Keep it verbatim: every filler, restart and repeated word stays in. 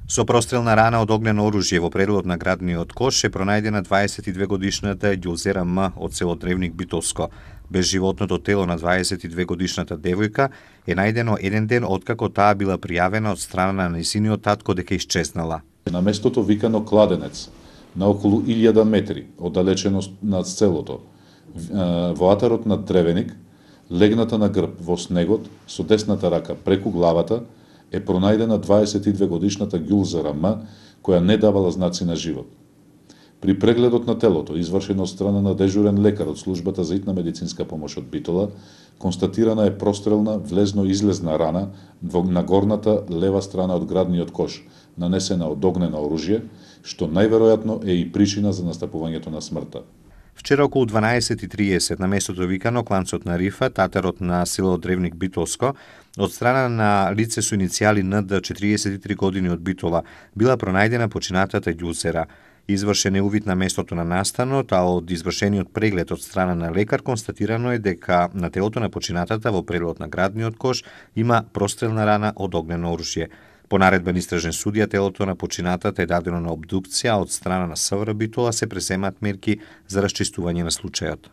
Со прострелна рана од огнено оружје во пределот на градниот кош е пронајдена дваесет и две годишната Ѓулзера М од село Древник Битолско. Безживотното тело на дваесет и две годишната девојка е најдено еден ден откако таа била пријавена од страна на нејзиниот татко дека исчезнала. На местото викано Кладенец, на околу илјада метри оддалеченост над селото, во атарот на Древеник, легната на грб во снегот со десната рака преку главата, е пронајдена дваесет и две годишната Ѓулзера М, која не давала знаци на живот. При прегледот на телото, извршен од страна на дежурен лекар од службата за итна медицинска помош од Битола, констатирана е прострелна влезно-излезна рана на горната лева страна од градниот кош, нанесена од огнено оружје, што најверојатно е и причина за настапувањето на смртта. Вчера околу дванаесет и триесет на местото викано кланцот на Рифа, татарот на село Древник Битолско, од страна на лице со иницијали Н Д, четириесет и три години од Битола, била пронајдена починатата Ѓулзера. Извршен е увид на местото на настанот, а од извршениот преглед од страна на лекар констатирано е дека на телото на починатата во пределот на градниот кош има прострелна рана од огнено оружје. По наредба на истражен судија, телото на починатата е дадено на обдукција, од страна на С В Р Битола се преземаат мерки за расчистување на случајот.